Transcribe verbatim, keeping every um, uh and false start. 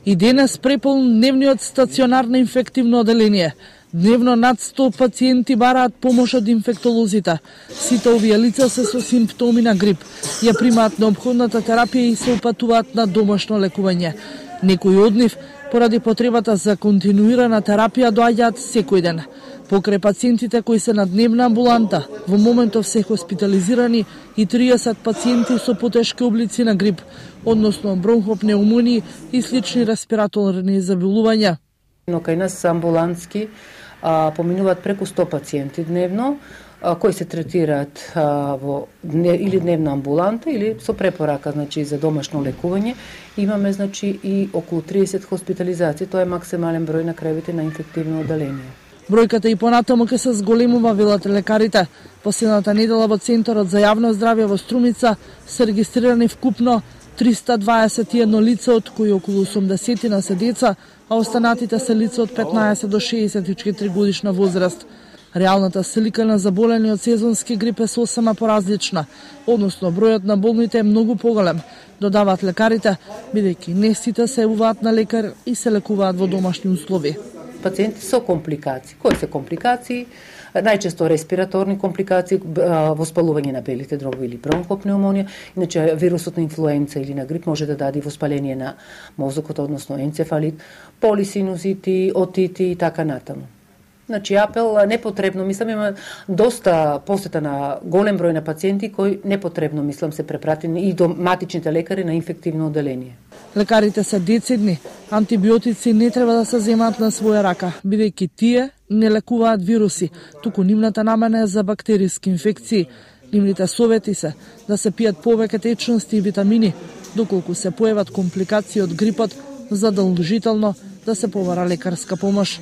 И денес преполн дневниот стационар на инфективно оделение. Дневно над сто пациенти бараат помош од инфектолозите. Сите овие лица се со симптоми на грип. Ја примаат неопходната терапија и се упатуваат на домашно лекување. Некои од нив, поради потребата за континуирана терапија, доаѓаат секој ден. Покрај пациентите кои се на дневна амбуланта, во моментов се хоспитализирани и триесет пациенти со потешки облици на грип, односно бронхопнеумонии и слични респираторни заболувања. Но кај нас амбулантски а, поминуваат преку сто пациенти дневно, а, кои се третираат а, во дне, или дневна амбуланта или со препорака, значи за домашно лекување. Имаме значи и околу триесет хоспитализации, тоа е максимален број на кревите на инфективно оделение. Бројката и понатаму ќе се зголемува, велат лекарите. Последната недела во Центарот за јавно здравје во Струмица се регистрирани вкупно триста дваесет и едно лица, од кои околу осумдесет на се деца, а останатите се лица од петнаесет до шеесет и четири годишна возраст. Реалната слика на заболениот сезонски грип е сосема поразлична, односно бројот на болните е многу поголем, додаваат лекарите, бидејќи не сите се јавуваат на лекар и се лекуваат во домашни услови. Пациенти со компликации. Кои се компликации? Најчесто респираторни компликации, воспалување на белите дробови или бронхопнеумонија. Иначе вирусот на инфлуенца или на грип може да даде воспаление на мозокот, односно енцефалит, полисинузити, отити и така натаму. Значи, апел непотребно, мислам, има доста посета на голем број на пациенти кои непотребно, мислам, се препратени и до матичните лекари на инфективно оделение. Лекарите се децидни, антибиотици не треба да се земаат на своја рака, бидејќи тие не лекуваат вируси, туку нивната намена е за бактериски инфекции. Нивните совети се да се пијат повеќе течности и витамини, доколку се појават компликации од грипот, задолжително да се побара лекарска помош.